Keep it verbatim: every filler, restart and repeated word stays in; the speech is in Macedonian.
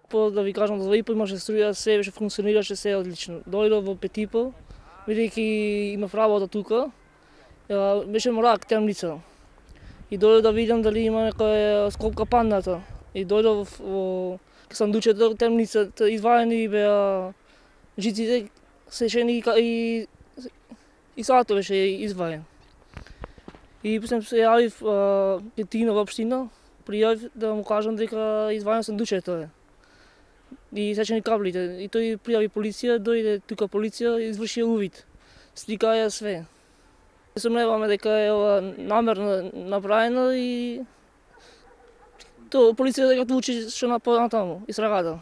По да ви кажам, за ИПО имаше струја, се беше функционираше се одлично. Дојдов во пет и по, бидејќи имав работа тука, беше мрак, темница. И дојдов да видам дали има некоја скопка падната. И дојдов во сандучето, темницата, извадени беа жиците, сечени и и сато беше изваден. И после се јавив кај Тино во општина, пријавив да му кажам дека изваден сандучето е. И сечени каблите. И тој пријави полиција, дојде тука полиција и изврши увид. Сликаја све. Сомневаме дека е ова намерно направено и то полиција дека одлучи што нападна таму, истрагата.